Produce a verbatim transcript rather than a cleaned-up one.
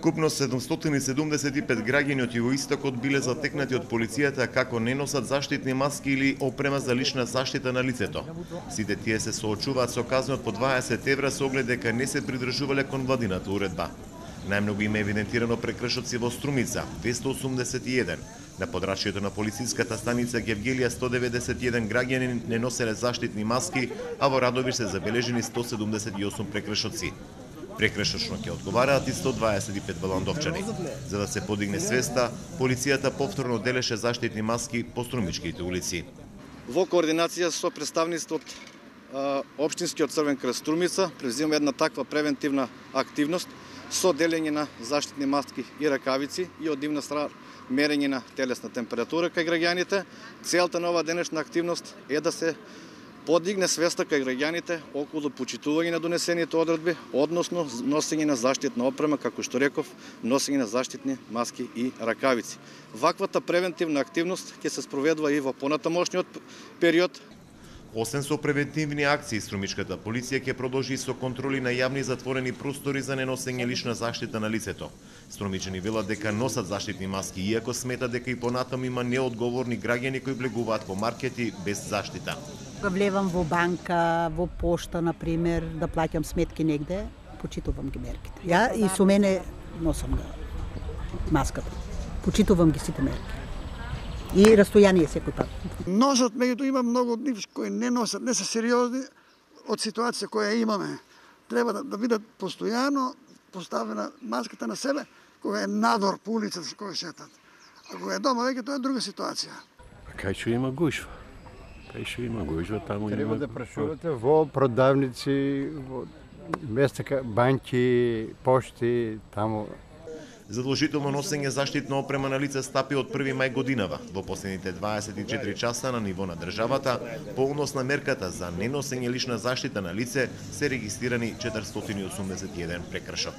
Вкупно седумстотини седумдесет и пет граѓани од југоистокот биле затекнати од полицијата како не носат заштитни маски или опрема за лична заштита на лицето. Сите тие се соочуваат со казна од по дваесет евра со оглед дека не се придржувале кон владината уредба. Најмногу има евидентирано прекршоци во Струмица – двесте осумдесет и еден. На подрачјето на полициската станица Гевгелија сто деветдесет и еден граѓани не носеле заштитни маски, а во Радовиш се забележени сто седумдесет и осум прекршоци. Прекршочно ќе одговараат и сто дваесет и пет валандовчани. За да се подигне свеста, полицијата повторно делеше заштитни маски по струмичките улици. Во координација со представништво од Општинскиот Црвен крст Струмица превземаме една таква превентивна активност со делење на заштитни маски и ракавици и од дивна страна мерење на телесна температура кај граѓаните. Целта на оваа денешна активност е да се подигне свеста кај граѓаните околу почитување на донесените одредби, односно носење на заштитна опрема, како што реков, носење на заштитни маски и ракавици. Ваквата превентивна активност ќе се спроведува и во понатамошниот период. Освен со превентивни акции, струмичката полиција ќе продолжи со контроли на јавни затворени простори за неносење лична заштита на лицето. Струмичани велат дека носат заштитни маски, иако сметат дека и понатаму има неодговорни граѓани кои влегуваат во маркети без заштита. Влевам во банка, во пошта, например, да плаќам сметки негде, почитувам ги мерките. Ја и со мене носам ga маската. Почитувам ги сите мерки. И растојание секој пат. Носат, меѓутоа има многу од нив кои не носат, не се сериозни од ситуација која имаме. Треба да, да бидат постојано поставена маската на себе кога е надвор по улицата кога шетат. А кога е дома веќе тоа е друга ситуација. Кај што има гушва? Кај што има гушва, таму Треба има... да прашувате во продавници, во места банки, пошти, таму. Задолжително носење заштитна опрема на лице стапи од први мај годинава. Во последните дваесет и четири часа на ниво на државата, по однос на мерката за неносење лична заштита на лице се регистрирани четиристотини и осумдесет и еден прекршок.